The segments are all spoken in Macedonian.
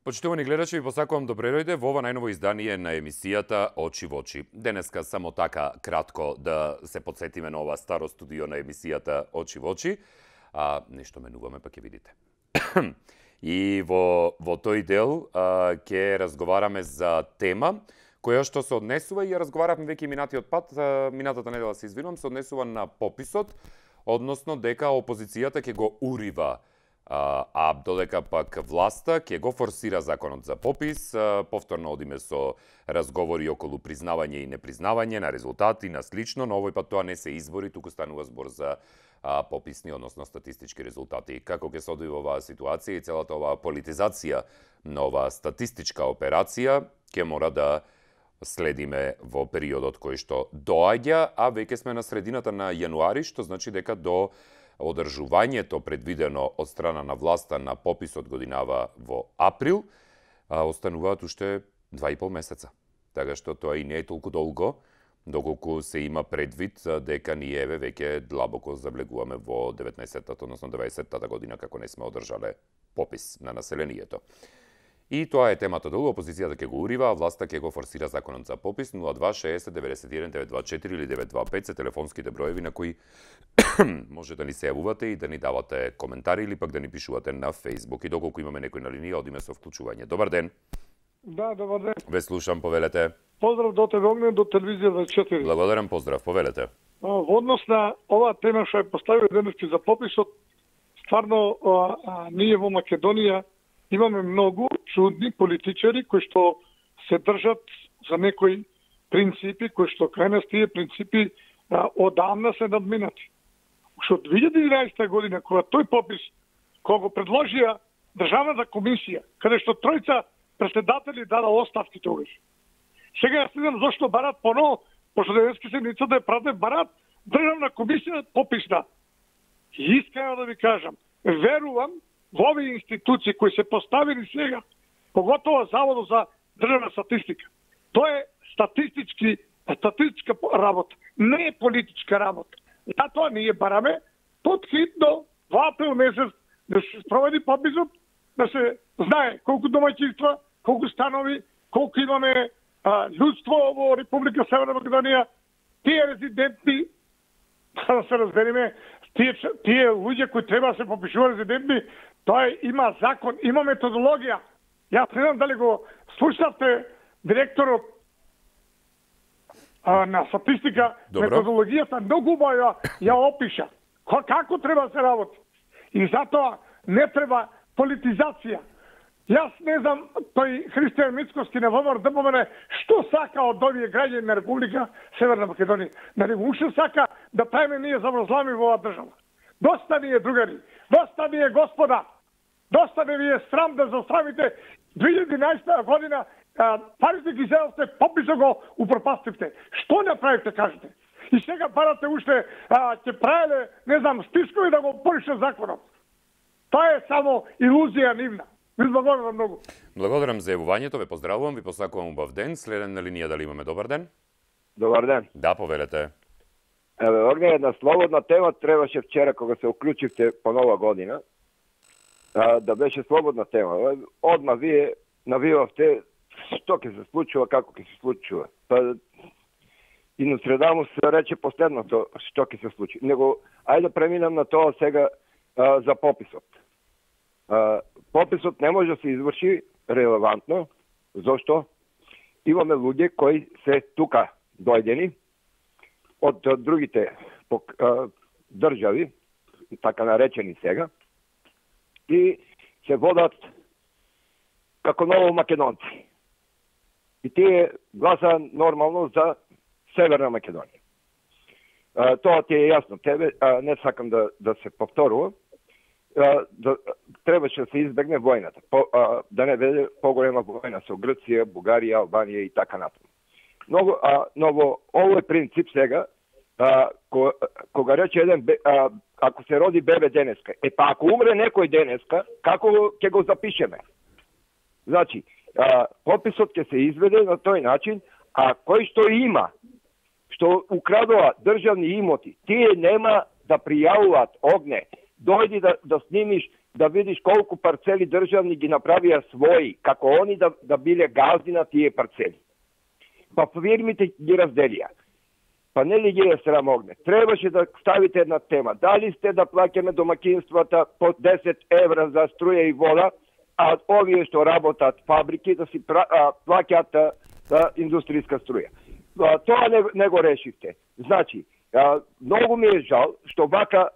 Почитувани гледачи, ви посакувам добре дојде во ова најново издание на емисијата Очи во очи. Денеска само така кратко да се подсетиме на ова старо студио на емисијата Очи во очи, а нешто менуваме, па ќе видите. И во тој дел ќе разговараме за тема која што се однесува и ја разговаравме веќе минатиот пат, минатата недела се извинувам, се однесува на пописот, односно дека опозицијата ќе го урива, а додека пак власта ќе го форсира законот за попис. Повторно одиме со разговори околу признавање и непризнавање на резултати, на слично, но овој пат тоа не се избори, туку станува збор за пописни, односно статистички резултати. Како ќе се одвива оваа ситуација и целата оваа политизација на оваа статистичка операција ќе мора да следиме во периодот кој што доаѓа, а веќе сме на средината на јануари, што значи дека до одржувањето предвидено од страна на власта на пописот годинава во април, остануваат уште 2,5 месеца. Така што тоа и не е толку долго, доколку се има предвид дека ние веќе длабоко завлегуваме во 19-тата, односно 20-тата година како не сме одржале попис на населението. И тоа е темата долу, опозицијата ќе го урива, а власта ќе го форсира законот за попис. 0260 91 924 или 925 се телефонските броеви на кои може да ни се јавувате и да ни давате коментари или пак да ни пишувате на Facebook. И доколку имаме некој на линија, одиме со вклучување. Добар ден. Да, добар ден. Ве слушам, повелете. Поздрав до тебе огнен, до телевизија 24. Благодарам, поздрав, повелете. Во однос на оваа тема што ја поставил денески за пописот, стварно ние во Македонија имаме многу чудни политичари кои што се држат за некои принципи, кои што крај нас тие принципи одамна се надминати. Уште од 2011 година, кога тој попис, кога го предложија Државната комисија, каде што тројца председатели дада оставки тогаш. Сега јас не знам зошто барат поново, пошто денеска седмицата е празна, барат Државна комисија пописна. И искрено да ви кажам, верувам во овие институции кои се поставени сега, поготово Заводот за државна статистика. Тоа е статистичка работа, не е политичка работа. Затоа ние бараме подхитно во април месец да се спроведи пописот, да се знае колку домаќинства, колку станови, колку имаме луѓство во Република Северна Македонија, тие резидентни, да се разбереме, тие луѓе кои треба да се попишува резидентни, тоа има закон, има методологија. Јас не знам дали го слушавте директорот на статистика, методологијата многу убаво ја опиша. Како треба да се работи. И затоа не треба политизација. Јас не знам, тој Христијан Мицковски на ВМРО да помене што сака од овие граѓани на Република Северна Македонија. Нали уште сака да правиме ние заврзлами во оваа држава. Доста ни е, другари, доста ни е, господа, доста ни ви е срам да засрамите 2011 година, парите ги зедовте, пописо го упропастивте. Што направите, кажете? И сега барате уште, ќе правеле, не знам, спискови да го порише законот. Тоа е само илузија нивна. Ви благодарам многу. Благодарам за јавувањето, ве поздравувам, ви посакувам убав ден. Следен на линија, дали имаме добар ден? Добар ден. Да, повелете. Еве, орга една слободна тема требаше вчера кога се уклучивте по нова година, да беше слободна тема. Одма вие навивавте што ќе се случува, како ќе се случува. Па и на среда му се рече последното што ќе се случи. Него ајде да преминам на тоа сега за пописот. Пописот не може да се изврши релевантно. Зошто? Имаме луѓе кои се тука дојдени од другите држави, така наречени сега, и се водат како ново македонци. И тие гласа нормално за Северна Македонија. Тоа ти е јасно. Тебе не сакам да се повторува. Требаше да се избегне војната. Да не биде поголема војна со Грција, Бугарија, Албанија и така натаму. Но во овој принцип сега, кога рече еден, ако се роди бебе денеска, па ако умре некој денеска, како ќе го запишеме? Значи, пописот ќе се изведе на тој начин, а кој што има, што украдува државни имоти, тие нема да пријавуваат огне. Дојди да снимиш, да видиш колку парцели државни ги направија своји, како они да биле газди на тие парцели. Па фирмите ги разделија. Па нели ги е срам огне? Требаше да ставите една тема. Дали сте да плаќаме домакинствата по 10 евра за струја и вода, а овие што работат фабрики да си плаќаат индустријска струја. Тоа не го решивте. Значи, многу ми е жал што вака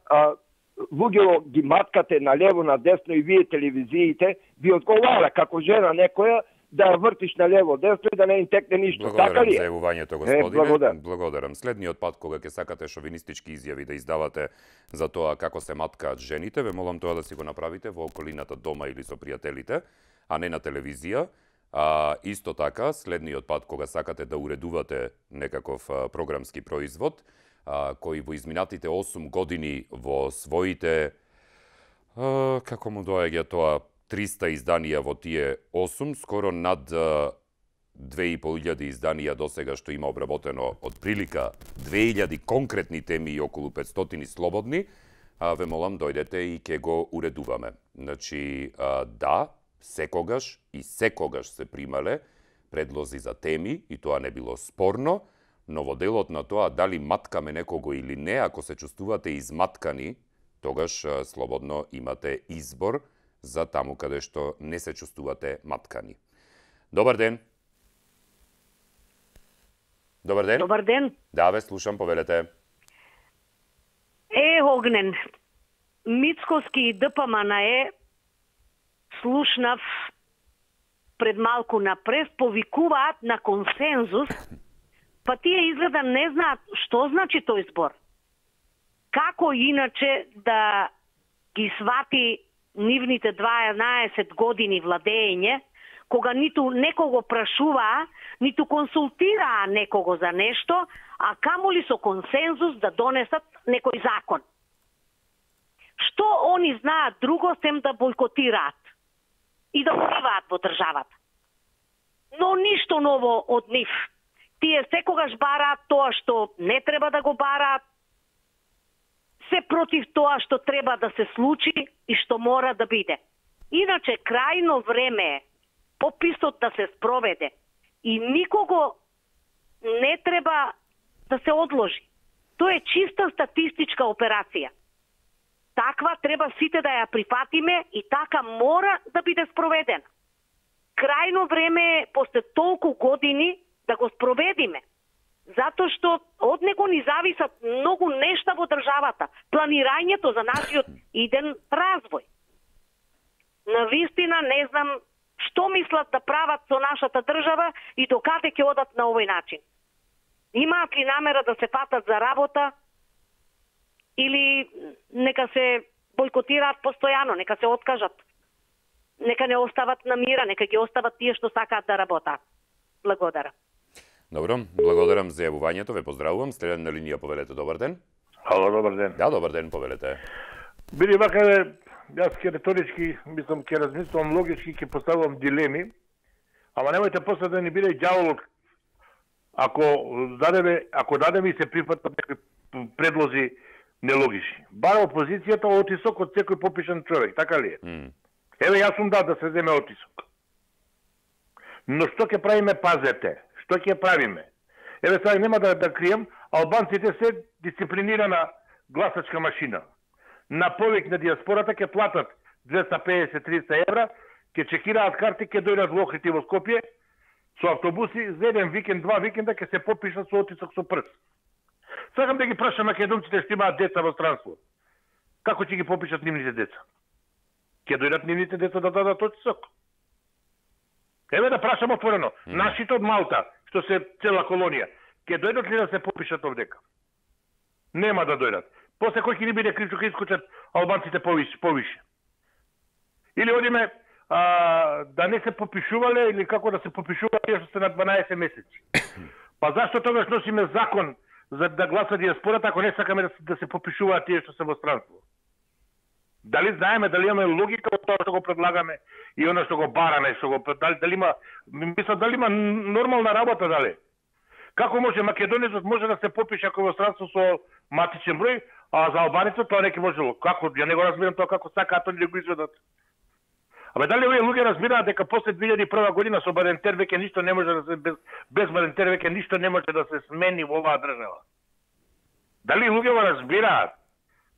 луѓето ги маткате на лево, на десно и вие телевизиите ви одговара како жена некоја да ја вртиш на лево, десно и да не им текне ништо. Така ли е? Благодарам за јавувањето, господине. Благодарам. Следниот пат кога ќе сакате шовинистички изјави да издавате за тоа како се маткаат жените, ве молам тоа да си го направите во околината дома или со пријателите, а не на телевизија. Исто така, следниот пат кога сакате да уредувате некаков програмски производ, кој во изминатите 8 години во своите, како му доаѓа тоа, 300 изданија во тие 8, скоро над 2500 изданија досега што има обработено од прилика 2000 конкретни теми и околу 500 слободни, ве молам дојдете и ќе го уредуваме. Значи, да, секогаш и секогаш се примале предлози за теми и тоа не било спорно, но во делот на тоа дали маткаме некого или не, ако се чувствувате изматкани, тогаш слободно имате избор за таму каде што не се чувствувате маткани. Добар ден. Добар ден. Добар ден. Да, ве слушам, повелете. Огнен. Мицкоски и ДПМН слушнав пред малку напред, повикуваат на консензус, па тие изгледа не знаат што значи тој збор. Како иначе да ги свати нивните 12 години владење, кога ниту некого прашуваа, ниту консултираа некого за нешто, а камоли со консензус да донесат некој закон. Што они знаат друго сем да бойкотираат и да вливаат во државата? Но ништо ново од нив. Тие секогаш бараат тоа што не треба да го бараат, се против тоа што треба да се случи и што мора да биде. Иначе, крајно време е пописот да се спроведе и никого не треба да се одложи. Тоа е чиста статистичка операција. Таква треба сите да ја прифатиме и така мора да биде спроведена. Крајно време е, после толку години, да го спроведиме. Затоа што од него ни зависат многу нешта во државата. Планирањето за нашиот иден развој. Навистина не знам што мислат да прават со нашата држава и до каде ќе одат на овој начин. Имаат ли намера да се фатат за работа или нека се бойкотираат постојано, нека се откажат. Нека не остават на мира, нека ги остават тие што сакаат да работат. Благодарам. Добро, благодарам за јавувањето, ве поздравувам. Следен на линија, повелете, добар ден. Ало, добар ден. Да, добар ден, повелете. Биде вака, јас ке реторички, мислам, ке размислувам логички, ке поставувам дилеми, ама немојте после да ни биде ѓаволот ако дадеме и се прифатат некои предлози нелогични. Бара опозицијата отисок од секој попишан човек, така ли е? Еве, јас сум да се земе отисок. Но што ќе правиме, пазете? Што ќе правиме? Еве, сега нема да крием, албанците се дисциплинирана гласачка машина. На повик на диаспората ќе платат 250-300 евра, ќе чекираат карти, ќе дојдат во Охрид и во Скопје, со автобуси, за еден викенд, 2 викенда ќе се попишат со отисок со прст. Сакам да ги прашам македонците што имаат деца во странство. Како ќе ги попишат нивните деца? Ќе дојдат нивните деца да дадат отисок? Еве да прашам отворено. Нашите од Малта, што се цела колонија, ќе дојдат ли да се попишат овдека? Нема да дојдат. После кој ќе ни биде крив, ќе искочат албанците повише. Или одиме да не се попишувале, или како да се попишуваат тие што се на 12 месеци. Па зашто тогаш носиме закон за да гласа диаспората, ако не сакаме да се попишуваат тие што се во странство? Дали знаеме, дали имаме логика од тоа што го предлагаме и оно што го бараме, дали има, мислам, дали има нормална работа, дали? Како може македонецот може да се попише ако во странство со матичен број, а за албанецот тоа не ќе можело? Како? Ја не го разбирам тоа како сакаат они да го изведат. Абе дали овие луѓе разбираат дека после 2001 година со Бадентер веќе ништо не може да се без Бадентер веќе ништо не може да се смени во оваа држава? Дали луѓе го разбираат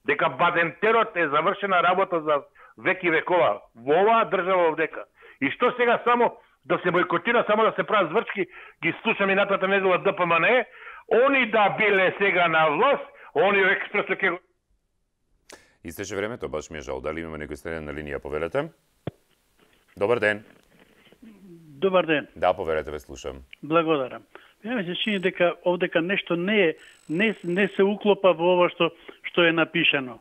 дека Бадентерот е завршена работа за веки векова во оваа држава овдека? И што сега само да се бойкотира, само да се прават зврчки, ги слушам и натата недела ДПМНЕ, они да биле сега на власт, они експресо ќе го... Истече времето, баш ми е жал. Дали имаме некој следен на линија, повелете? Добар ден. Добар ден. Да, повелете, ве слушам. Благодарам. Ја ми се чини дека овдека нешто не се уклопа во ова што е напишано.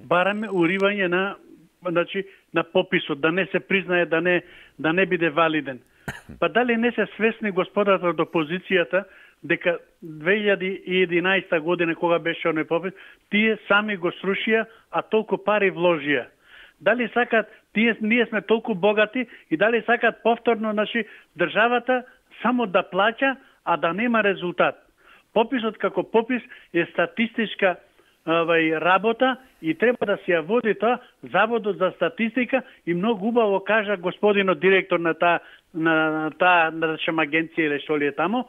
Бараме уривање на пописот, да не се признае, да не биде валиден. Па дали не се свесни господата од опозицијата дека 2011 година кога беше оној попис, тие сами го срушија, а толку пари вложија. Дали сакат, ние сме толку богати и дали сакат повторно, државата само да плаќа, а да нема резултат. Пописот како попис е статистичка работа и треба да се ја води тоа Заводот за статистика и многу убаво кажа господинот директор на таа агенција или што ли е таму,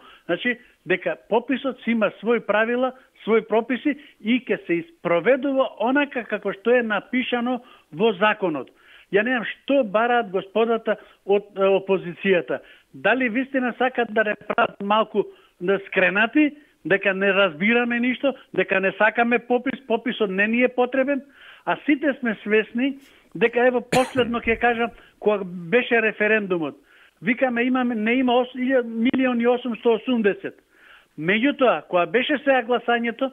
дека пописот си има свој правила, свој прописи и ќе се испроведува онака како што е напишано во законот. Ја не знам што бараат господата од опозицијата. Дали вистина сакат да не прават малку скренати, дека не разбираме ништо, дека не сакаме пописот не ни е потребен, а сите сме свесни дека ево последно ќе кажам кога беше референдумот. Викаме не има 1.880.000. Меѓутоа, кога беше сега гласањето,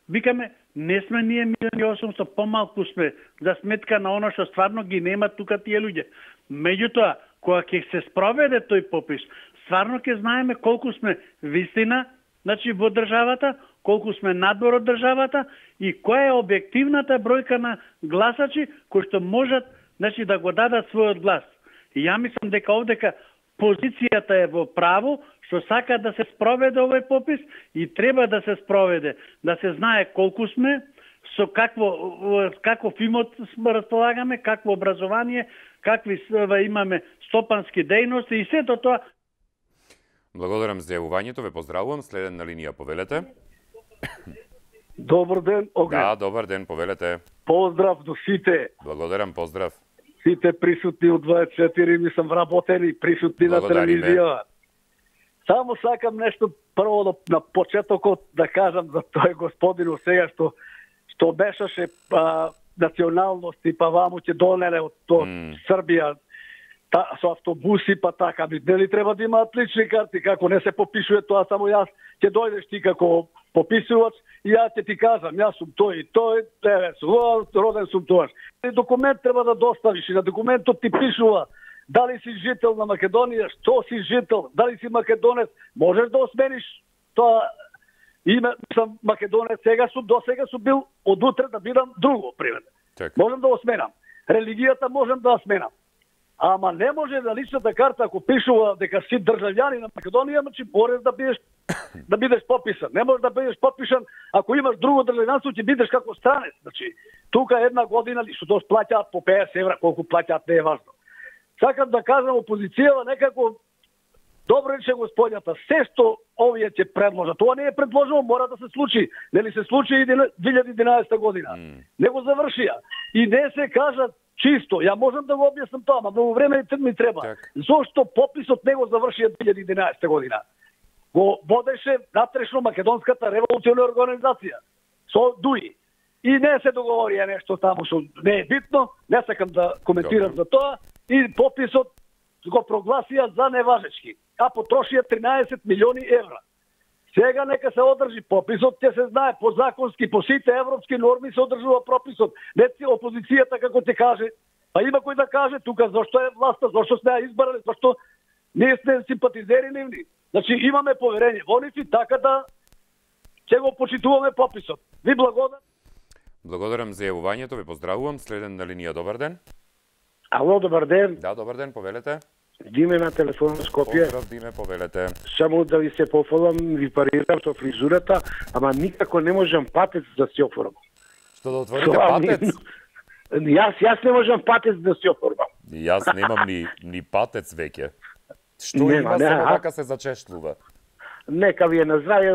викаме не сме ние 1.800.000, помалку сме за сметка на оно што стварно ги немат тука тие луѓе. Меѓутоа, кога ќе се спроведе тој попис, стварно ќе знаеме колку сме вистина, во државата, колку сме надвор од државата и која е објективната бројка на гласачи кои што можат да го дадат својот глас. И ја мислам дека овдека позицијата е во право, што сака да се спроведе овој попис и треба да се спроведе, да се знае колку сме, со каков имот располагаме, какво образование, какви имаме стопански дејности и сето тоа. Благодарам за јавувањето, ве поздравувам. Следен на линија, повелете. Добар ден, Огнен. Да, добар ден, повелете. Поздрав до сите. Благодарам, поздрав. Сите присутни од 24, мислам вработени, присутни на телевизија. Само сакам нешто прво на почетокот да кажам за тој господин сега што бешаше националности, па ваму ќе донеле од Србија со автобуси, па така, нели треба да имаат лични карти, како не се попишува тоа, само јас ќе дојдеш ти како пописувач и ја ќе ти кажам, јас сум тој и тој, роден сум тоаш. Документ треба да доставиш и на документот ти пишува дали си жител на Македонија, што си жител, дали си македонец, можеш да осмениш тоа име, сам македонец, досега сум бил, од утре да бидам друго, пример. Можем да осменам. Религијата можем да осменам. Ама не може на личната карта, ако пишува дека си државјани на Македонија, можеш да бидеш пописан. Не можеш да бидеш попишан ако имаш друго државјанство, ќе бидеш како странец. Тука една година што плаќаат по 50 евра, колку плаќаат не е важно. Сакам да кажам опозицијава некако добро рече господјата, се што овие ќе предложат, тоа не е предложено, мора да се случи. Нели се случи и 2011 година. Не го завршија. И не се кажат чисто. Ја можам да го објаснам тоа, но многу време ми треба. Зошто пописот не го завршија 2011 година? Го водеше натрешно Македонската револуционна организација со ДУИ. И не се договорија нешто таму што не е битно, не сакам да коментирам за тоа, и пописот го прогласија за неважечки, а потрошија 13 милиони евра. Сега нека се одржи пописот, ќе се знае по законски, по сите европски норми се одржува прописот. Не си опозицијата како ти каже, па има кој да каже тука зошто е власта, зошто сме ја избрали, зошто ние сме симпатизери нивни. Имаме поверење во нив и така да ќе го почитуваме пописот. Ви благодарам. Благодарам за јавувањето, ви поздравувам. Следен на линија, добар ден. Ало, добар ден. Да, добар ден, повелете. Диме на телефон на Скопје. Поздрав, Диме, повелете. Само да ви се пофалам, ви парирам со фризурата, ама никако не можам патец да си оформам. Што да отворите патец? Јас не можам патец да си оформам. Јас немам ни патец веќе. Што Нема, има, само така се зачешлува. Нека ви е на здравје,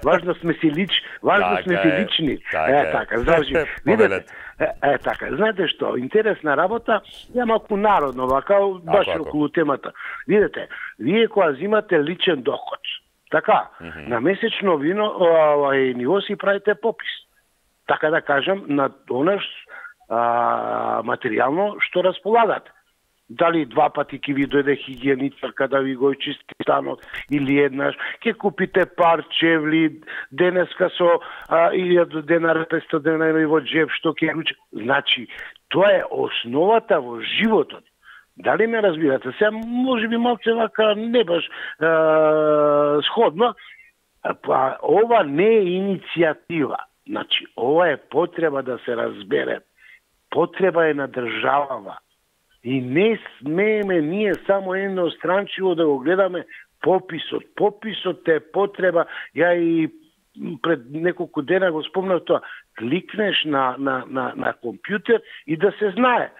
важно сме си лични. Така, значи, видите, така, знаете што, интересна работа, ја малку народно, вака, баш околу темата. Видите, вие кога земате личен доход, така, на месечно ниво си правите попис. Така да кажам, на онаш материјално што располагате. Дали 2 пати ќе ви дојде хигиеничарка да ви го чисти станот, или еднаш, ќе купите пар чевли, денеска со 1000 денари, 500 денари во джеб, што ќе ручи. Значи, тоа е основата во животот. Дали ме разбирате? Сега, може би малце вака не баш сходно, па ова не е иницијатива. Значи, ова е потреба да се разбере. Потреба е на државава. И не смееме ние само едностранчиво да го гледаме пописот. Пописот е потреба, ја и пред неколку дена го спомнав тоа, кликнеш на компјутер и да се знае.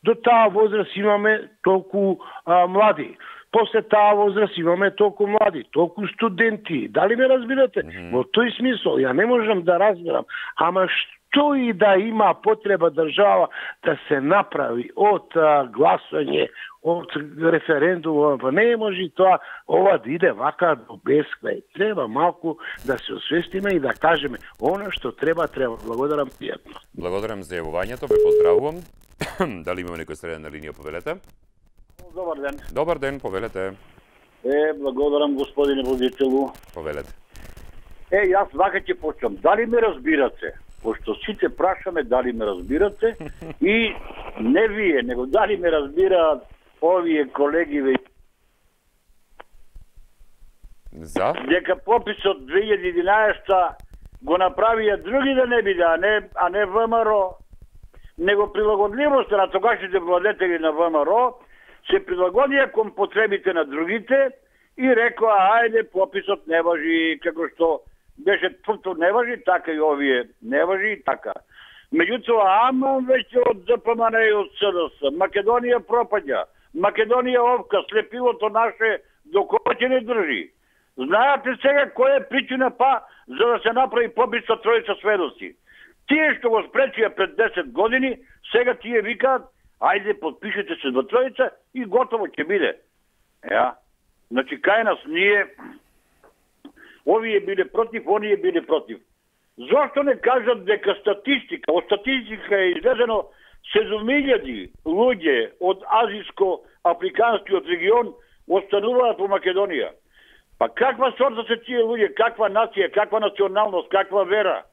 До таа возраст имаме толку млади. После таа возраст имаме толку млади, толку студенти. Дали ме разбирате? Во тој смисол, ја не можам да разберам. Ама што и да има потреба држава да се направи од гласање, од референдум, не може тоа, ова да иде вака до бескрај. Треба малку да се освестиме и да кажеме, она што треба. Благодарам пријатно. Благодарам за јавувањето, ве поздравувам. Дали имаме некој среден на линија, повелете? Добар ден. Добар ден, повелете. Благодарам господине водителу. Повелете. Јас вака ќе почнам. Дали ме разбирате? Пошто сите прашаме дали ме разбирате и не вие, него дали ме разбираат овие колеги За? дека пописот 2011 го направија други да не биде, а не ВМРО, него прилагодливост на тогашните владетели на ВМРО се прилагодија кон потребите на другите и рекоа, ајде, пописот не важи, како што беше тврто не важи, така и овие не важи и така. Меѓутоа, ама веќе од ДПМН и од СДС, Македонија пропаѓа, Македонија овка, слепилото наше до кој ќе не држи. Знаете сега која е причина за да се направи попис со тројца сведоци? Тие што го спречија пред 10 години, сега тие викаат, ајде подпишете се до тројца и готово ќе биде. Значи, кај нас ние овие биле против, оние биле против. Зошто не кажат дека статистика, од статистика е излезено 7.000 луѓе од азиско-африканскиот регион остануваат во Македонија. Па каква сорта се тие луѓе, каква нација, каква националност, каква вера?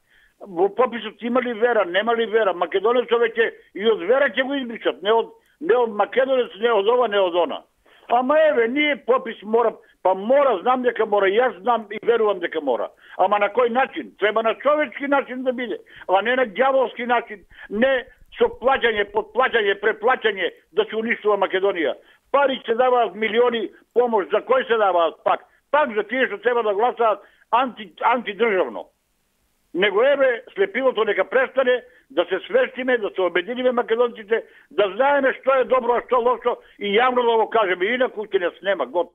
Во пописот има ли вера, нема ли вера? Македонецот веќе и од вера ќе го избричат, не од македонец, не од ова, не од она. Ама еве, ние попис мора, знам дека мора, јас знам и верувам дека мора. Ама на кој начин? Треба на човечки начин да биде, а не на ѓаволски начин, не со плаќање, подплаќање, преплаќање да се уништува Македонија. Пари се даваат милиони помош, за кој се даваат пак? Пак за тие што треба да гласаат антидржавно. Него еве, слепилото нека престане, да се свестиме, да се обединиме македонците, да знаеме што е добро, а што лошо и јавно да го кажеме, инаку ќе не снема год.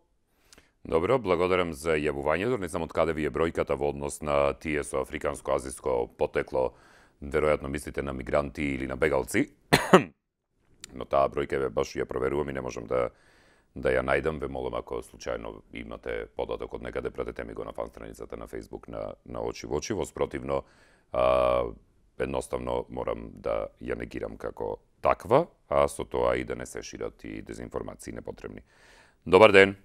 Добро, благодарам за јавувањето. Не знам од каде ви е бројката во однос на тие со африканско-азиско потекло. Веројатно мислите на мигранти или на бегалци. Но таа бројка ве баш ја проверувам и не можам да ја најдам. Ве молам, ако случајно имате податок од некаде, пратете ми го на фан страницата на Facebook на Очи во очи. Воспротивно, едноставно морам да ја негирам како таква, а со тоа и да не се шират и дезинформации непотребни. Добар ден.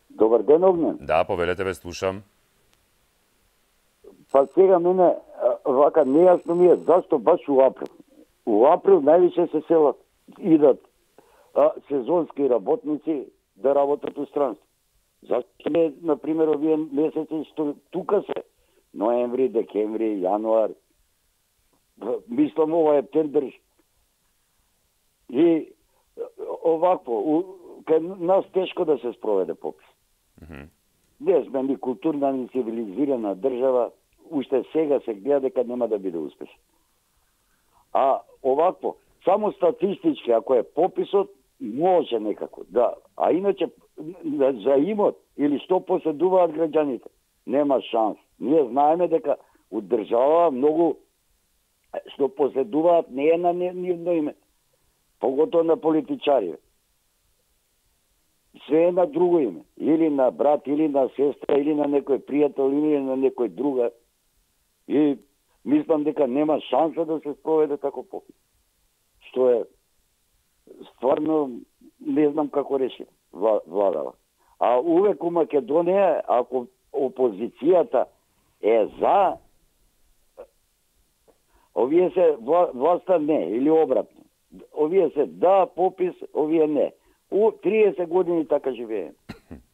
Добар ден, Огнен. Да, повелете, ве слушам. Па сега мене вака нејасно ми е зашто баш у април. У април највише се селат, идат сезонски работници да работат у странство. Зашто не, например, овие месеци што тука се, ноември, декември, јануар, Мислам, ова е тендер. И овакво, кај нас тешко да се спроведе попис. Не сме ни културна, ни цивилизирана држава, уште сега се гледа дека нема да биде успешен. А овакво, само статистички, ако е пописот, може некако, да. А иначе, за имот или што поседуваат граѓаните, нема шанс. Ние знаеме дека од држава многу што поседуваат не е на нивно име, поготово на политичари. Се е на друго име, или на брат, или на сестра, или на некој пријател, или на некој друга. И мислам дека нема шанса да се спроведе тако попис. Што е стварно не знам како реши владава. А увек у Македонија, ако опозицијата е за, овие се власта не, или обратно. Овие се да попис, овие не. 30 години така живеем.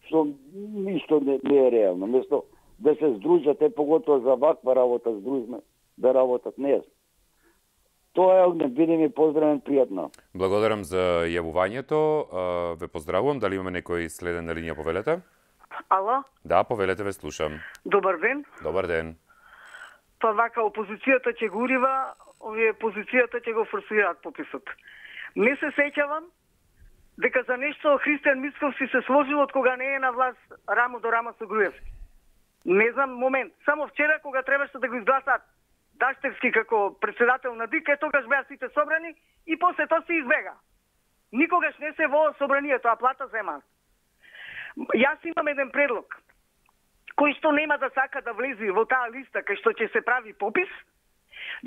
Што ништо не е реално. Место да се здружат, поготово за ваква работа здружме, да работат не е. Тоа е, биде ми поздравен, пријатно. Благодарам за јавувањето. Ве поздравувам. Дали имаме некој следен на линија, повелете? Ало? Да, повелете, ве слушам. Добар ден. Добар ден. Па вака опозицијата ќе го урива, овие позицијата ќе го форсираат пописот. Не се сеќавам дека за нешто Христијан Мицковски се сложил од кога не е на власт рамо до рамо со Груевски. Не знам момент. Само вчера кога требаше да го изгласаат Даштевски како председател на ДИК, тогаш беа сите собрани и после тоа се избега. Никогаш не се во собранието, а плата земаат. Јас имам еден предлог, кој што нема да сака да влезе во таа листа кај што ќе се прави попис,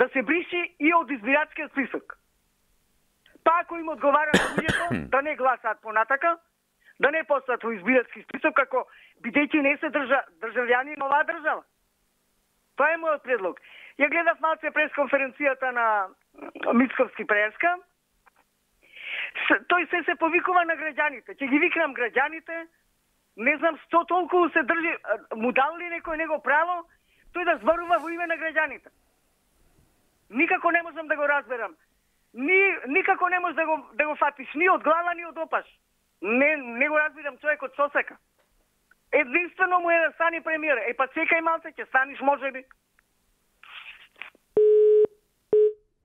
да се бриши и од избирачкиот список. Па ако им одговара на луѓето, да не гласаат понатака, да не постат во избирачки список, како бидејќи не се државјани на оваа држава. Тоа е мојот предлог. Ја гледав малце пресконференцијата на Мицковски Преска. Тој се повикува на граѓаните. Ќе ги викнам граѓаните. Не знам што толку се држи, му дал ли некој него право тој да зборува во име на граѓаните. Никако не можам да го разберам. Никако не можеш да го фатиш ни од глава, ни од опаш. Не го разбирам човекот што сека. Единствено му е да стани премиер. Па чекај малце, ќе станиш можеби.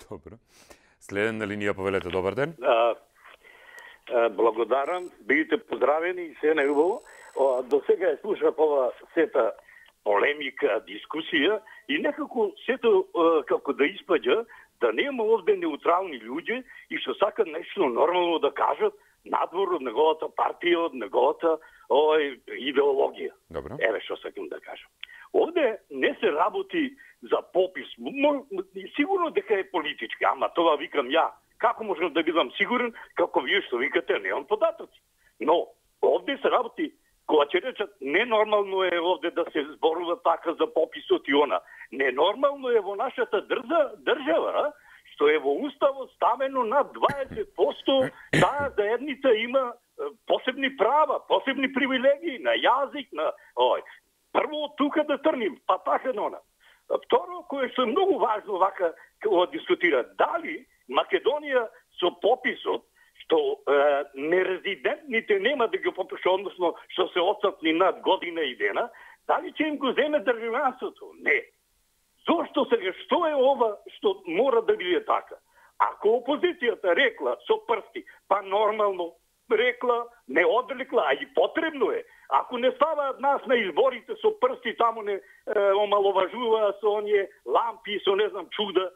Добро. Следен на линија, повелете, добар ден. Благодарам, бидете поздравени и се најубаво. До сега ја слушав ова сета полемика, дискусија и некако сето како да испаѓа да нема овде неутрални луѓе и што сакат нешто нормално да кажат надвор од неговата партија, од неговата идеологија. Добро. Еве што сакам да кажам. Овде не се работи за попис. Сигурно дека е политички, ама тоа викам ја. Како можам да бидам сигурен, како вие што викате, немам податоци. Но овде се работи, кога ќе речат ненормално е овде да се зборува така за пописот и она. Ненормално е во нашата држава, што е во уставот ставено над 20% таа заедница има посебни права, посебни привилегии на јазик, на прво од тука да трним, па така нона. Второ, кое што е многу важно вака кога дискутира, дали Македонија со пописот што нерезидентните нема да ги попише, односно што се отсатни над година и дена, дали ќе им го земе државјанството? Не. Зошто сега, што е ова што мора да биде така? Ако опозицијата рекла со прсти, па нормално рекла, не одрекла, а и потребно е. Ако не ставаат нас на изборите со прсти, таму не омаловажува со оние лампи, со не знам чуда,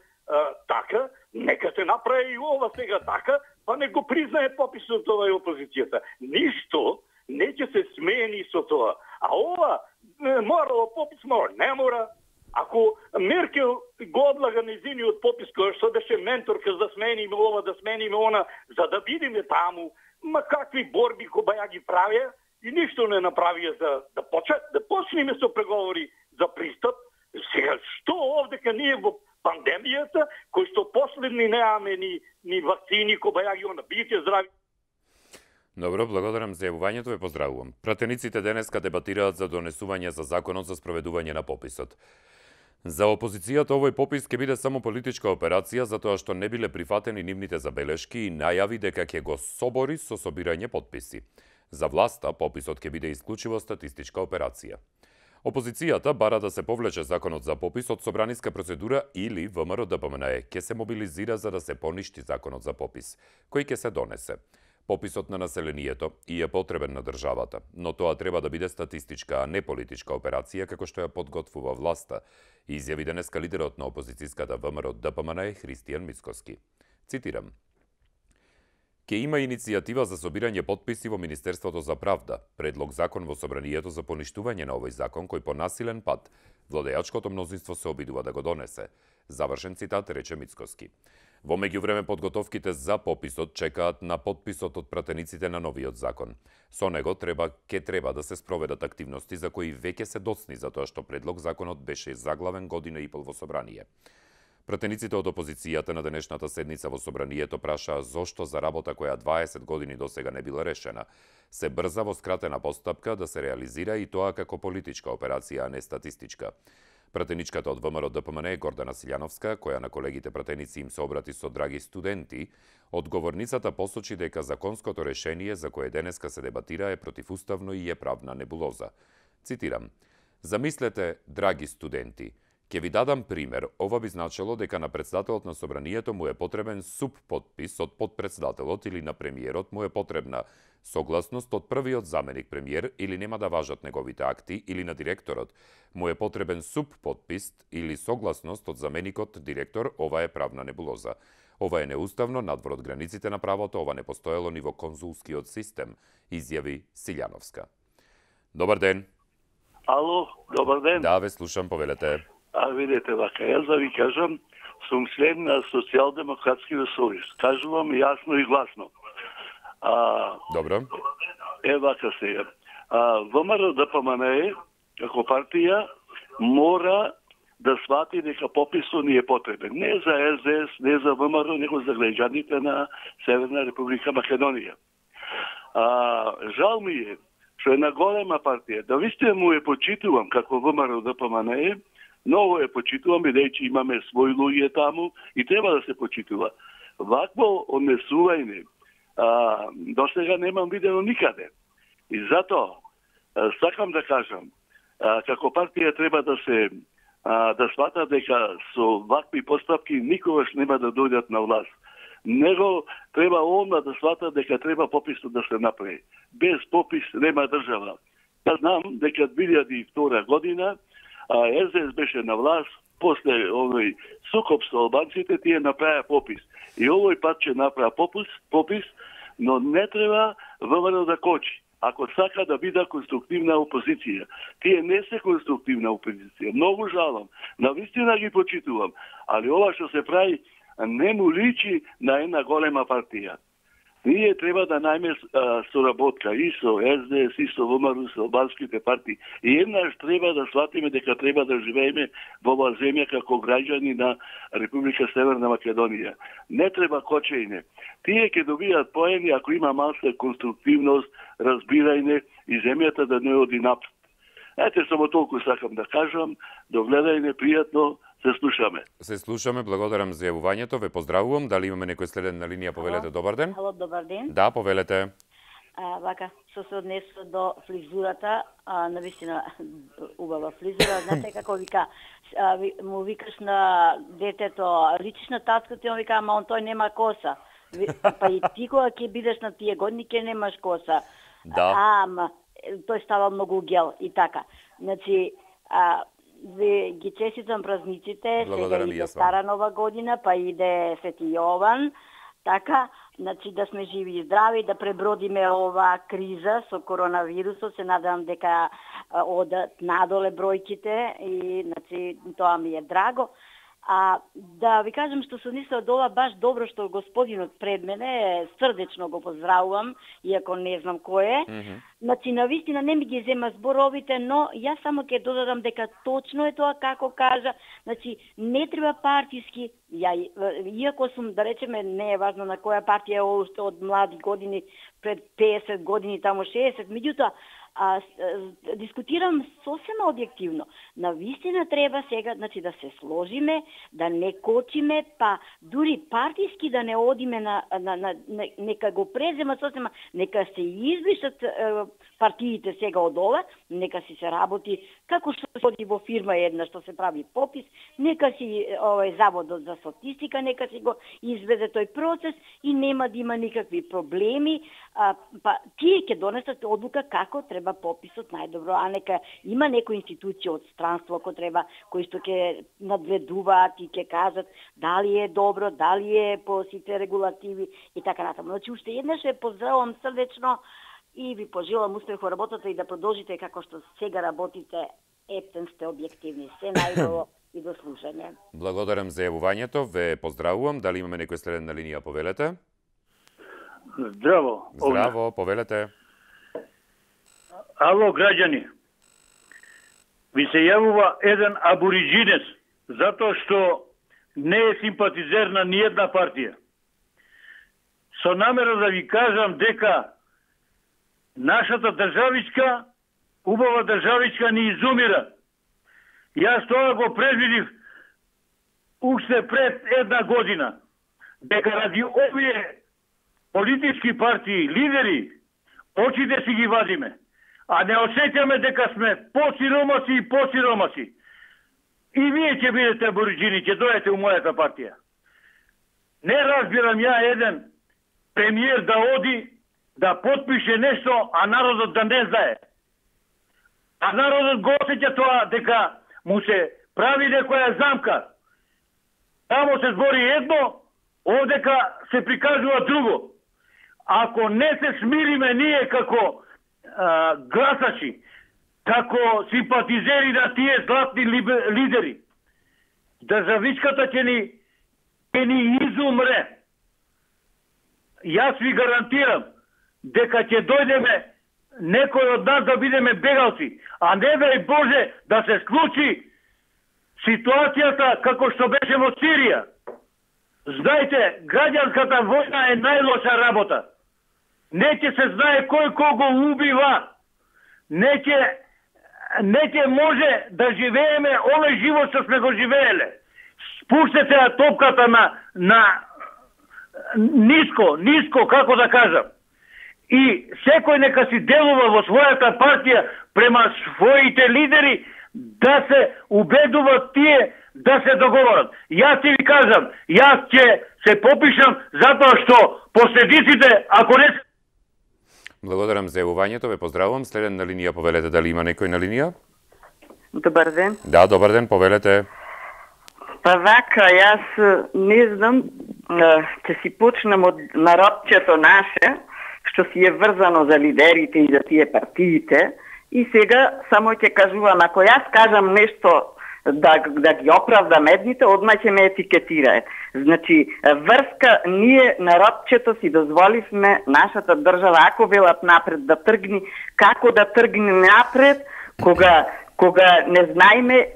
така, нека се направи и ова сега така, па не го признае пописот ова и опозицијата. Ништо не ќе се смени со тоа. А ова морало попис, не мора. Ако Меркел го одлага незиниот попис, кој што беше менторка да смениме ова, да смениме она, за да бидеме таму, ма какви борби која ја ги правија и ништо не направија за да почнеме со преговори за пристап. Сега, што овдека ние во пандемијата, кој што последни немаме ни вакцини, која ја ги она, бидете здрави. Добро, благодарам за јавувањето, ве поздравувам. Пратениците денеска дебатираат за донесување за законот за спроведување на пописот. За опозицијата овој попис ќе биде само политичка операција затоа што не биле прифатени нивните забелешки и најави дека ќе го собори со собирање потписи. За власта пописот ќе биде исклучиво статистичка операција. Опозицијата бара да се повлече законот за попис од собраниска процедура или ВМРО-ДПМНЕ ќе се мобилизира за да се поништи законот за попис, кој ќе се донесе. Пописот на населението и е потребен на државата, но тоа треба да биде статистичка, а не политичка операција како што ја подготвува власта, изјави денеска лидерот на опозицијската ВМРО-ДПМНЕ Христијан Мицкоски. Цитирам: Ке има иницијатива за собирање потписи во Министерството за правда, предлог закон во собранието за поништување на овој закон кој по насилен пат владеачкото мнозинство се обидува да го донесе. Завршен цитат, рече Мицкоски. Во меѓувреме подготовките за пописот чекаат на потписот од пратениците на новиот закон. Со него ќе треба да се спроведат активности за кои веќе се доцни затоа што предлог законот беше заглавен година и пол во собрание. Пратениците од опозицијата на денешната седница во собранието прашаа зошто за работа која 20 години досега не била решена, се брза во скратена постапка да се реализира и тоа како политичка операција, а не статистичка. Пратеничката од ВМРО-ДПМНЕ Гордана Силјановска, која на колегите пратеници им се обрати со драги студенти, одговорницата посочи дека законското решение за кое денеска се дебатира е противуставно и е правна небулоза. Цитирам: Замислете, драги студенти, ќе ви дадам пример. Ова би значило дека на председателот на собранието му е потребен субпотпис од подпредседателот или на премиерот му е потребна согласност од првиот заменик премиер или нема да важат неговите акти, или на директорот му е потребен субпотпис или согласност од заменикот директор. Ова е правна небулоза. Ова е неуставно, надвор од границите на правото, ова не постоело ни во конзулскиот систем, изјави Силјановска. Добар ден. Ало, добар ден. Да, ве слушам, повелете. Видете вака, јас да ви кажам, сум член на Социјалдемократскиот сојуз. Кажувам јасно и гласно. Добро. Вака сега. ВМРО-ДПМНЕ, како партија, мора да свати дека пописот ни е потребен. Не за СДС, не за ВМРО, него за граѓаните на Северна Република Македонија. Жал ми е, што една голема партија, да вистина му е почитувам како ВМРО-ДПМНЕ, многу е почитувам, бидејќи имаме своји луѓе таму и треба да се почитува. Вакво однесување досега немам видено никаде. И затоа сакам да кажам, како партија треба да се да свата дека со вакви постапки никогаш нема да дојдат на власт. Него треба одма да свата дека треба пописот да се направи. Без попис нема држава. Ја знам дека 2002 година СДС беше на власт, после овој сукоп со албанците, тие направија попис. И овој пат ќе направи попис, но не треба ВМРО да кочи. Ако сака да биде конструктивна опозиција. Тие не се конструктивна опозиција. Многу жалам. Навистина ги почитувам. Али ова што се прави не му личи на една голема партија. Ние треба да најме соработка и со СДС, и со ВМРО, со албанските партии. И еднаш треба да сватиме дека треба да живееме во оваа земја како граѓани на Република Северна Македонија. Не треба кочење. Тие ќе добијат поени ако има малка конструктивност, разбирање и земјата да не оди напред. Ете, само толку сакам да кажам. Догледајме, пријатно. Се слушаме. Се слушаме, благодарам за јавувањето, ве поздравувам. Дали имаме некој следен на линија, повелете, добар ден. Ало, добар ден. Да, повелете. Вака, што се однесува до фризурата, навистина убава фризура, знаете како вика, му викаш на детето, личиш на таткото, и он вика, ама он тој нема коса. Па и ти кога ќе бидеш на тие години, ќе немаш коса. Да. Ама, тој става многу гел и така. Значи, ви ги честитам празниците, сега иде Стара Нова година, па иде Свети Јован, така, значи да сме живи и здрави, да пребродиме ова криза со коронавирусот, се надам дека одат надоле бројките и значи тоа ми е драго. Да ви кажам што се однесува до ова баш добро што господинот пред мене, срдечно го поздравувам, иако не знам кој е. Значи, навистина не ми ги зема зборовите, но јас само ќе додадам дека точно е тоа како кажа. Значи, не треба партиски, иако сум, да речеме, не е важно на која партија е од млади години, пред 50 години, тамо 60, меѓутоа, дискутирам сосема објективно. Навистина треба сега, значи, да се сложиме, да не кочиме, па дури партиски да не одиме нека го презема сосема, нека се избришат партиите сега од ова, нека си се работи како што се оди во фирма една што се прави попис, нека си заводот за статистика, нека си го изведе тој процес и нема да има никакви проблеми, па тие ќе донесат одлука како треба пописот најдобро, а нека има некоја институција од странство кои што ќе надгледуваат и ќе кажат дали е добро, дали е по сите регулативи и така натаму. Значи уште еднаш ве поздравувам срдечно и ви пожелам успех во работата и да продолжите како што сега работите, ептен сте објективни. Се најдобро и до слушање. Благодарам за јавувањето, ве поздравувам. Дали имаме некој следен на линија, повелете? Здраво. Здраво, повелете. Ало, граѓани. Ви се јавува еден абориджинец, затоа што не е симпатизер на ниједна партија. Со намера да ви кажам дека нашата државичка, убава државичка ни изумира. Јас тоа го предвидив уште пред една година, дека ради овие политички партии, лидери, очите си ги вадиме, а не осеќаме дека сме посиромаси и посиромаси. И вие ќе бидете абориджини, ќе дојдете у мојата партија. Не разбирам ја еден премиер да оди, да подпише нешто, а народот да не знае. А народот го осеќа тоа дека му се прави некоја замка. Тамо се збори едно, овдека се прикажува друго. Ако не се смириме ние како гласачи, како симпатизери на тие златни лидери, државичката ќе ни изумре. Јас ви гарантирам дека ќе дојдеме некој од нас да бидеме бегалци, а не дај Боже да се случи ситуацијата како што беше во Сирија. Знаете, граѓанската војна е најлоша работа. Не ќе се знае кој кого убива. Не ќе може да живееме овој живот што сме го живееле. Спуштете ја топката на ниско, како да кажам. И секој нека си делува во својата партија према своите лидери да се убедуваат тие да се договорат. Јас ти ви кажам, јас ќе се попишам затоа што последиците, ако не... Благодарам за јавувањето, ве поздравувам. Следен на линија, повелете, дали има некој на линија? Добар ден. Да, добар ден, повелете. Па вака, јас не знам, ќе си почнам од народчето наше, што си е врзано за лидерите и за тие партиите, и сега само ќе кажувам, ако јас кажам нешто да ги оправдам едните, одма ќе ме етикетирае. Значи, врска, ние народчето си дозволивме нашата држава, ако велат напред да тргни, како да тргне напред, кога не знаеме,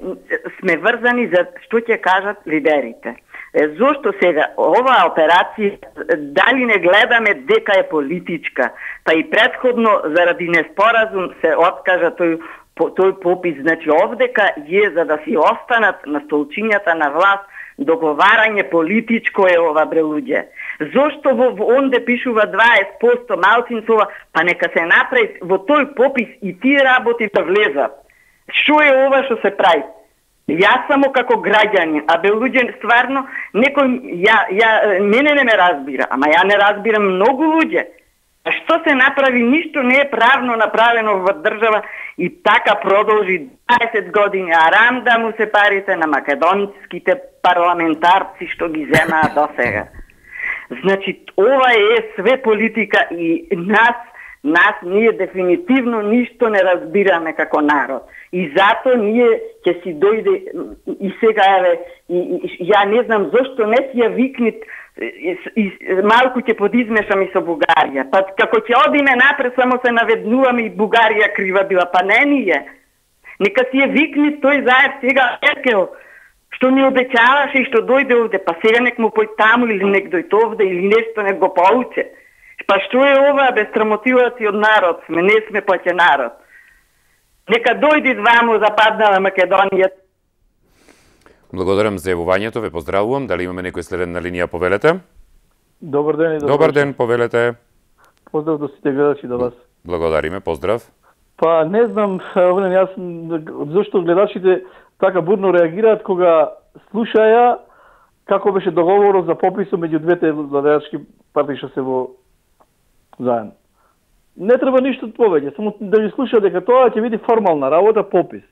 сме врзани за што ќе кажат лидерите. Зошто сега оваа операција, дали не гледаме дека е политичка, па и предходно заради неспоразум се откажа тој попис, значи овдека е за да си останат на столчињата на власт, договарање политичко е ова, бре луѓе. Зошто онде пишува 20% малцинцова, па нека се направи во тој попис и тие работи да влезат. Што е ова што се прави? Јас само како граѓанин, а бе луѓе стварно, мене не ме разбира, ама ја не разбирам многу луѓе. Што се направи, ништо не е правно направено во држава и така продолжи 20 години, арам да му се парите на македонските парламентарци што ги земаат до сега. Значи, ова е све политика и нас ние дефинитивно ништо не разбираме како народ. И зато ние ќе си дојде и сега еве, ја не знам зошто не си ја викнит малку ќе подизмешам и со Бугарија. Па како ќе одиме напред, само се наведнуваме и Бугарија крива била, па не ние. Нека си ја викнит тој заев сега Меркел, што ми обеќаваше и што дојде овде, па сега нек му пој таму или нек дојде овде или нешто нек го поуче. Па што е ова, без срамотилаци од народ сме, не сме па ќе народ. Нека дојдат ваму Западна Македонија. Благодарам за јавувањето, ве поздравувам. Дали имаме некој следен на линија, повелете? Добар ден и добар ден, повелете. Поздрав до сите гледачи до вас. Благодариме, поздрав. Па не знам, јас зашто гледачите така бурно реагираат кога слушаја како беше договорот за пописот меѓу двете владеачки партии што се во заедно. Не треба ништо повеќе, само да ги слуша дека тоа ќе биде формална работа, попис.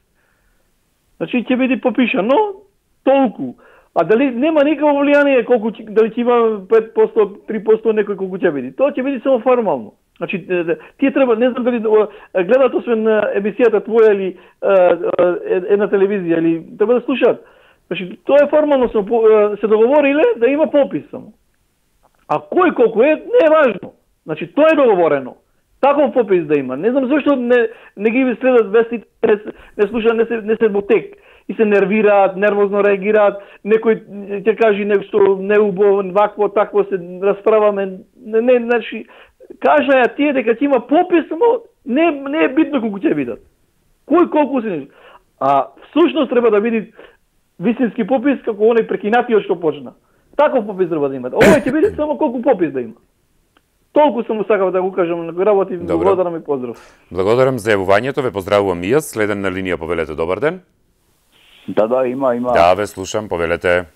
Значи ќе биде попишано толку. А дали нема никакво влијание колку дали ќе има 5%, 3% некој колку ќе биде. Тоа ќе биде само формално. Значи тие треба, не знам дали гледаат освен емисијата твоја или една телевизија или треба да слушаат. Значи тоа е формално се договориле да има попис само. А кој колку е не е важно. Значи тоа е договорено. Таков попис да има. Не знам зашто не ги следат вестите, не слушаат, не се во тек. И се нервираат, нервозно реагираат, некој ќе каже нешто неубаво, вакво, такво се расправаме. Не, значи, кажаја тие дека ќе има попис, но не е битно колку ќе видат. Кој колку се... А всушност треба да види вистински попис како оној прекинатиот што почна. Таков попис треба да имат. Ова ќе биде само колку попис да има. Толку само сакав да го кажам на работи, благодарам и поздрав. Благодарам за јавувањето, ве поздравувам и јас. Следен на линија, повелете, добар ден. Да, има. Да, ве слушам, повелете.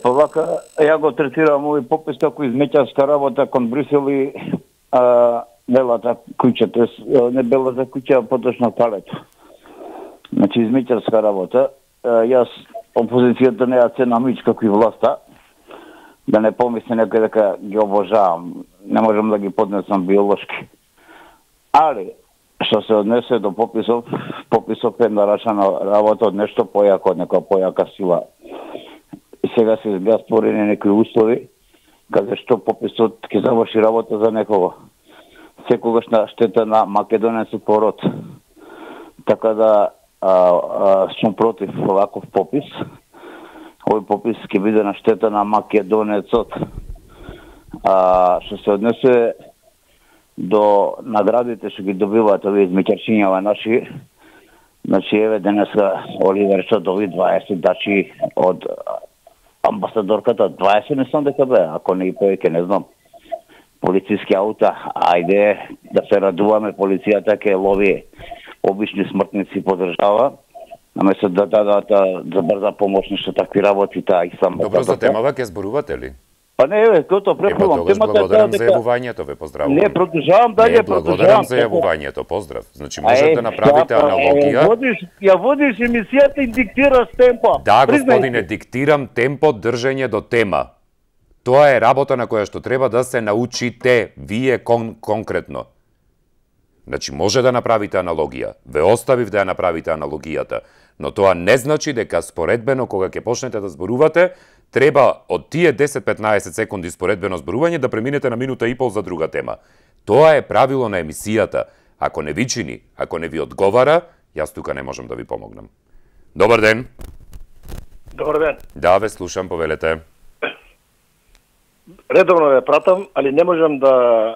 Па вака, ја го третирам овој попис како измеќарска работа кон Брисел и белата куќа, не белата куќа, а поточно палето. Значи, измеќарска работа. Јас, опозицијата не ја ценам ич како и власта, да не помисли некој дека ги обожавам. Не можам да ги поднесам биолошки. Али, што се однесе до пописов е нарачана работа од нешто појако, од некоја појака сила. И сега се беа створени некои услови, каде што пописот ќе заврши работа за некого. Секогаш на штета на македонецот пород. Така да сум против оваков попис. Овој попис ќе биде на штета на македонецот. Што се однесе до наградите што ги добиваат овие измеќарчињава наши, значи еве денеска Оливер што доби 20 дачи од амбасадорката, 20 не знам дека бе, ако не и повеќе не знам. Полициски аута, ајде да се радуваме, полицијата ќе лови обични смртници по држава, наместо да дадат за брза помош нешто такви работи, таа и само. Добро, за темава ќе зборувате ли? Па не, еве, тоа префрлам. Благодарам за јавувањето, ве поздравувам. Не, продолжавам дале, благодарам за јавувањето, поздрав. Значи, можете да направите аналогија. Ја водиш емисијата и диктираш темпо. Да, господине, диктирам темпо, држење до тема. Тоа е работа на која што треба да се научите, вие конкретно. Значи, може да направите аналогија. Ве оставив да ја направите аналогијата. Но тоа не значи дека споредбено, кога ќе почнете да зборувате, треба од тие 10-15 секунди споредбено зборување да преминете на минута и пол за друга тема. Тоа е правило на емисијата. Ако не ви чини, ако не ви одговара, јас тука не можам да ви помогнам. Добар ден. Добар ден. Да, ве слушам, повелете. Редовно ве пратам, али не можам да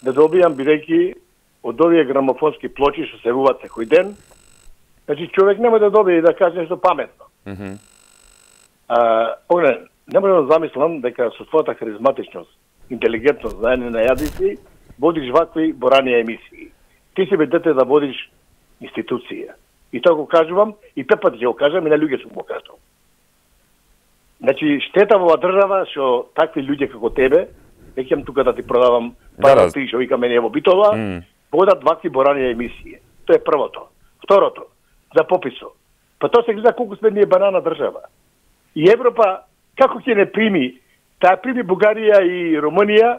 добијам, бидејќи од овие грамофонски плочи што се руват секој ден, значи човек нема да добие и да каже нешто паметно. Не можам да замислам дека со својата харизматичност, интелигентност, знаење на јазици, водиш вакви борани емисии. Ти си бе дете да водиш институција. И тоа го кажувам, и пепат ќе го кажам, и на луѓе сум го кажал. Значи, штета во држава што такви луѓе како тебе, неќам тука да ти продавам пара ти што вика мене во Битола, водат вакви борани емисии. Тоа е првото. Второто, за пописот. Па тоа се гледа колку сме ние банана држава. И Европа, како ќе не прими, таа прими Бугарија и Румунија,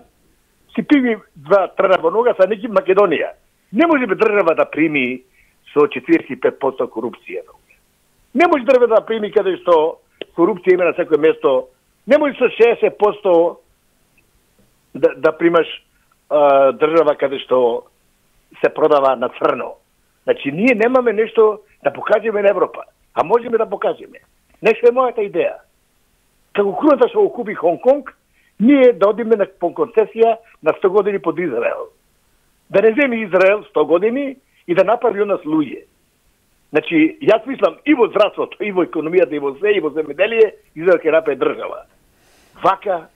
си прими два трена во нога, са неки Македонија. Не може бе држава да прими со 45% корупција. Не може држава да прими каде што корупција има на секој место. Не може со 60% да примаш држава каде што се продава на црно. Значи, ние немаме нешто да покажеме на Европа, а можеме да покажеме. Нешто е мојата идеја. Како круната што го купи Хонг-Конг, ние да одиме на концесија на 100 години под Израел. Да не земе Израел 100 години и да направи од нас луѓе. Значи, јас мислам и во здравството, и во економијата, и во се, и во земјоделие, изгледа ќе направи држава. Вака,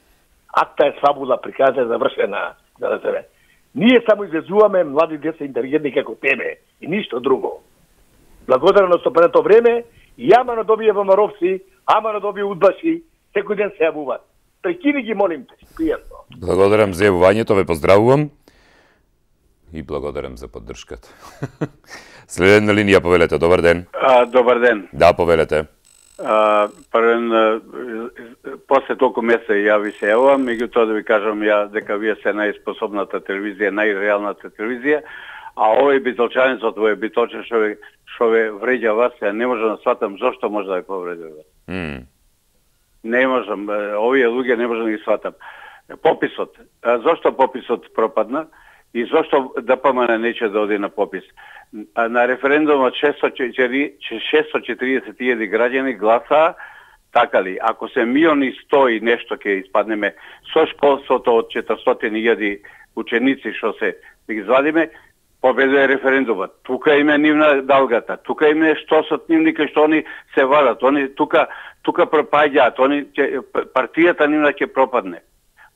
акта е фабула, приказа е завршена за себе. Ние само излезуваме млади деца интелигентни како тебе и ништо друго. Благодарно со прето време, и ама надобие ВМРО-вци, ама надобие удбаши, секој ден се јавуваат. Прекини ги, молим те, пријатно. Благодарам за јавувањето, ве поздравувам и благодарам за поддршката. Следен на линија, повелете, добар ден. Добар ден. Да, повелете. Првен, после толку месеца јави се јавувам, меѓутоа да ви кажам ја дека вие се најспособната телевизија, најреалната телевизија, а овој битолчанец од овој битолчен што ве вреѓа вас, ја не можам да сватам зошто може да ја повреди вас. Не можам, овие луѓе не можам да ги сватам. Пописот, зошто пописот пропадна и зошто ДПМН нече да оди на попис? На референдумот 640.000 граѓани гласаа, така ли? Ако се 1.100.000 и нешто ќе испаднеме со школството од 400.000 ученици што се да ги извадиме, победува референдумот. Тука им е нивна далгата, тука им е штосот нивни кај што они се вадат, они тука пропаѓаат, они партијата нивна ќе пропадне.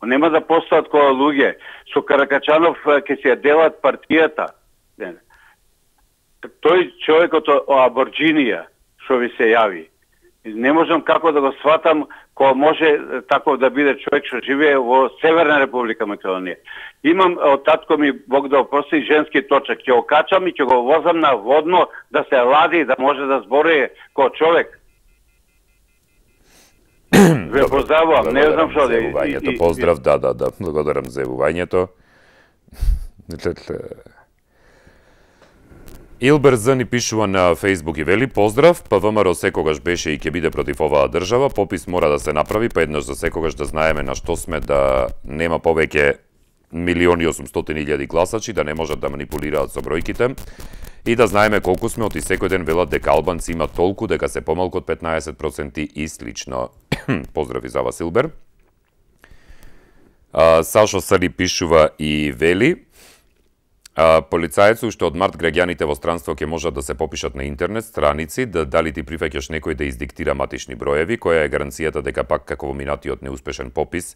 Нема да постојат која луѓе. Со Каракачанов ќе се делат партијата. Тој човекот од Аборџинија што ви се јави. Не можам како да го сватам кој може тако да биде човек што живее во Северна Република Македонија. Имам од татко ми, Бог да опрости, женски точак. Ќе го качам и ќе го возам на водно да се лади, да може да збори кој човек. Ве поздравувам, не знам што да... Поздрав, да. Благодарам за јавувањето. Илберза ни пишува на Фейсбук и вели: поздрав, ПВМР секогаш беше и ќе биде против оваа држава, попис мора да се направи, па еднаш за секогаш да знаеме на што сме, да нема повеќе 1.800.000 гласачи, да не можат да манипулираат со бројките и да знаеме колку сме, оти секој ден велат дека албанци имат толку, дека се помалку од 15% и слично. Поздрави за вас, Илбер. Сашо Сали пишува и вели: полицајецу уште од март граѓаните во странство ќе можат да се попишат на интернет страници, дали ти прифаќаш некој да издиктира матични броеви, која е гаранцијата дека пак како во минатиот неуспешен попис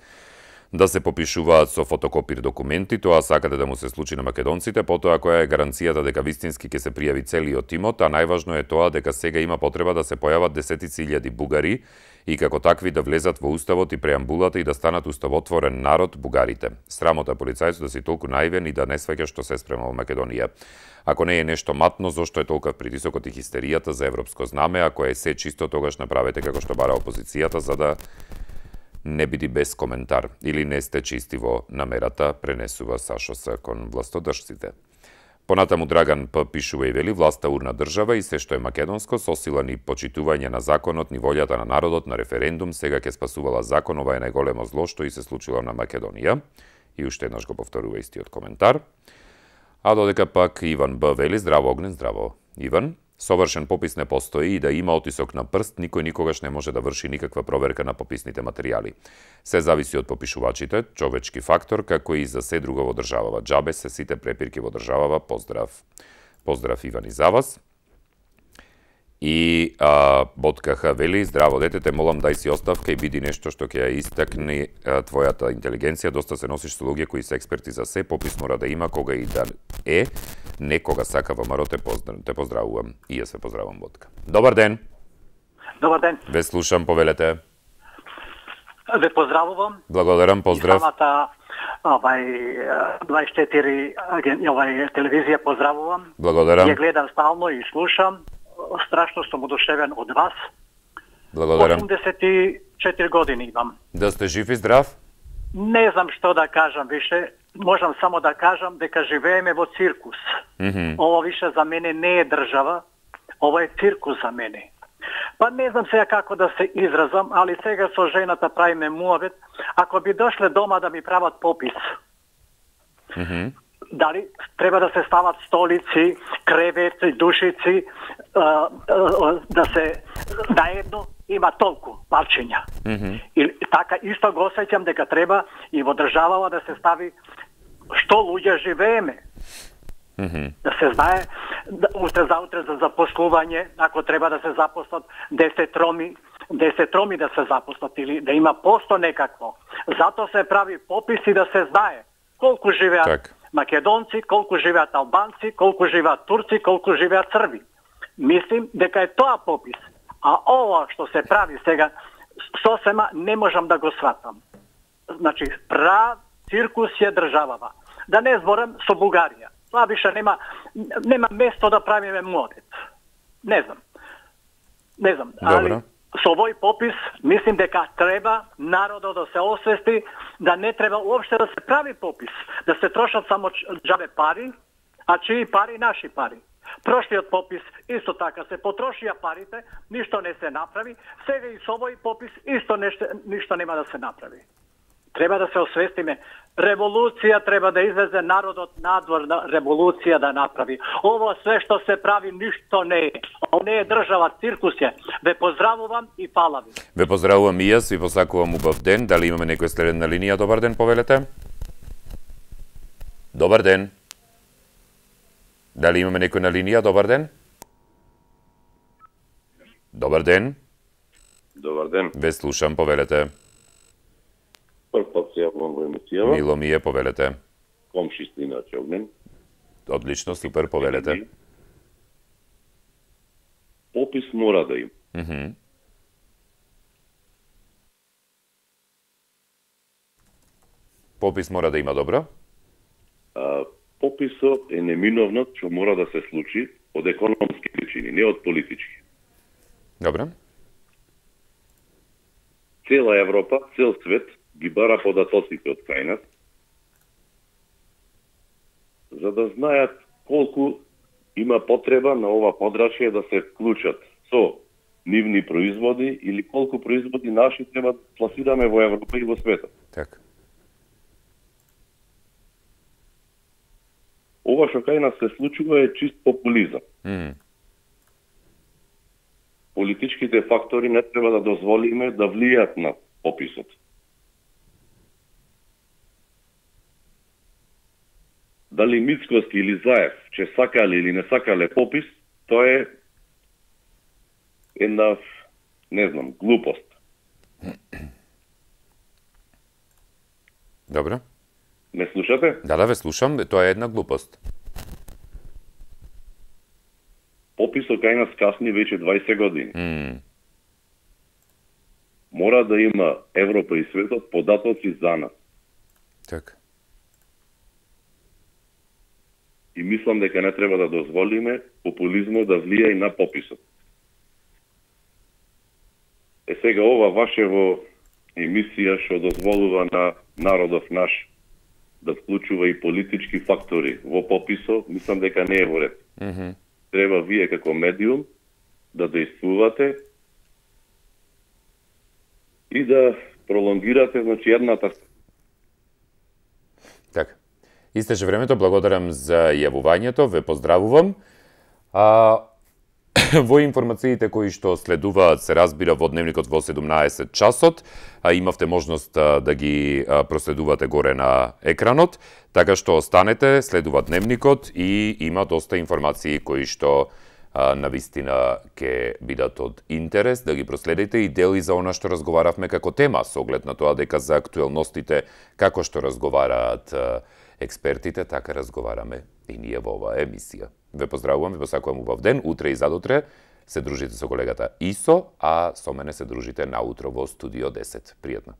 да се попишуваат со фотокопир документи, тоа сакате да му се случи на македонците, потоа која е гаранцијата дека вистински ќе се пријави целиот тимот, а најважно е тоа дека сега има потреба да се појават десетици илјади бугари и како такви да влезат во уставот и преамбулата и да станат уставотворен народ бугарите. Срамота полицајцот да си толку наивен и да не сваќа што се спрема во Македонија. Ако не е нешто матно, зошто е толков притисокот и хистеријата за европско знаме, ако е се чисто, тогаш направете како што бара опозицијата, за да не биди без коментар. Или не сте чисти во намерата, пренесува Сашо С. кон властодржците. Понатаму Драган П. пишува и вели: власта урна држава и се што е македонско, со сила ни почитување на законот, ни волјата на народот, на референдум, сега ќе спасувала закон, ова е најголемо зло што и се случило на Македонија. И уште еднаш го повторува истиот коментар. А додека пак Иван Б. вели: здраво Огнен, здраво Иван. Совршен попис не постои и да има отисок на прст, никој никогаш не може да врши никаква проверка на пописните материјали. Се зависи од попишувачите, човечки фактор, како и за се друго во државава. Џабе се сите препирки во државава. Поздрав. Поздрав Иван и за вас. И Боткаха вели: здраво детете, молам дај си оставка и биди нешто што ќе ја истакне твојата интелигенција. Доста се носиш со луѓе кои се експерти за се, попис мора да има кога и да е. Некога сака ВМРО, те поздравувам. И јас ве поздравувам, Ботка. Добар ден. Добар ден. Ве слушам, повелете. Ве поздравувам. Благодарам, поздрав. И самата 24 телевизија поздравувам. Благодарам. Ја гледам стално и слушам. Страшно сум одушевен од вас. Благодарам. 84 години имам. Да сте жив и здрав? Не знам што да кажам више. Можам само да кажам дека живееме во циркус. Ова више за мене не е држава, ова е циркус за мене. Па не знам сега како да се изразам, али сега со жената правиме муавет. Ако би дошле дома да ми прават попис, дали треба да се стават столици, кревети, душици, да се наедно има толку парчиња. И така исто го осеќам дека треба и во државава да се стави што луѓе живееме. Да се знае, утре за запослување, ако треба да се запослат 10 роми да се запослат или да има посто некакво. Зато се прави попис и да се знае колку живеат македонци, колку живеат албанци, колку живеат турци, колку живеат срби. Мислим дека е тоа попис. А ова што се прави сега, сосема не можам да го сватам. Значи, прав циркус е државава. Да не зборам со Бугарија. Тоа више нема место да правиме модет. Не знам. Али со овој попис мислим дека треба народот да се освести, да не треба уопште да се прави попис, да се трошат само џабе пари, а чии пари, наши пари. Прошлиот попис исто така се потрошија парите, ништо не се направи, сега и со овој попис исто ништо нема да се направи. Треба да се освестиме. Револуција треба да излезе народот надвор на револуција да направи. Ово све што се прави ништо не е. Ово не е држава, циркус е. Ве поздравувам и фала ви. Ве поздравувам и јас, ви посакувам убав ден. Дали имаме некој следен на линија? Добар ден, повелете. Добар ден. Дали имаме некој на линија? Добар ден. Добар ден. Добар ден. Ве слушам, повелете. Прв пат се јавувам во емисијава. Мило ми е, повелете. Комши сте иначе Огнен. Одлично, супер, повелете. Попис мора да има. Попис мора да има, добро? Пописот е неминовно што мора да се случи од економски причини, не од политички. Добро. Цела Европа, цел свет ги бара податоците од кај нас, за да знаат колку има потреба на ова подрачје да се вклучат со нивни производи или колку производи наши треба да пласираме во Европа и во светот. Така. Ова што кај нас се случува е чист популизам. Политичките фактори не треба да дозволиме да влијат на пописот. Дали Мицкоски или Заев, че сакале или не сакале попис, тоа е една, не знам, глупост. Добро. Ме слушате? Да, ве слушам, тоа е една глупост. Пописот кај нас касни веќе 20 години. Мора да има Европа и светот податоци за нас. Така. И мислам дека не треба да дозволиме популизмот да влија и на пописот. Сега ова вашево емисија што дозволува на народов наш да вклучува и политички фактори во пописот, мислам дека не е во ред. Треба вие како медиум да действувате и да пролонгирате, значи, едната. Така. Истече времето, благодарам за јавувањето, ве поздравувам. Во информациите кои што следуваат се разбира во дневникот во 17 часот, имавте можност да ги проследувате горе на екранот, така што останете, следува дневникот и има доста информации кои што навистина ќе бидат од интерес да ги проследите и дели за она што разговаравме како тема, со оглед на тоа дека за актуелностите како што разговараат експертите, така разговараме и ние во оваа емисија. Ве поздравувам, ве посакувам убав ден. Утре и задутре се дружите со колегата Исо, а со мене се дружите наутро во Студио 10. Пријатно.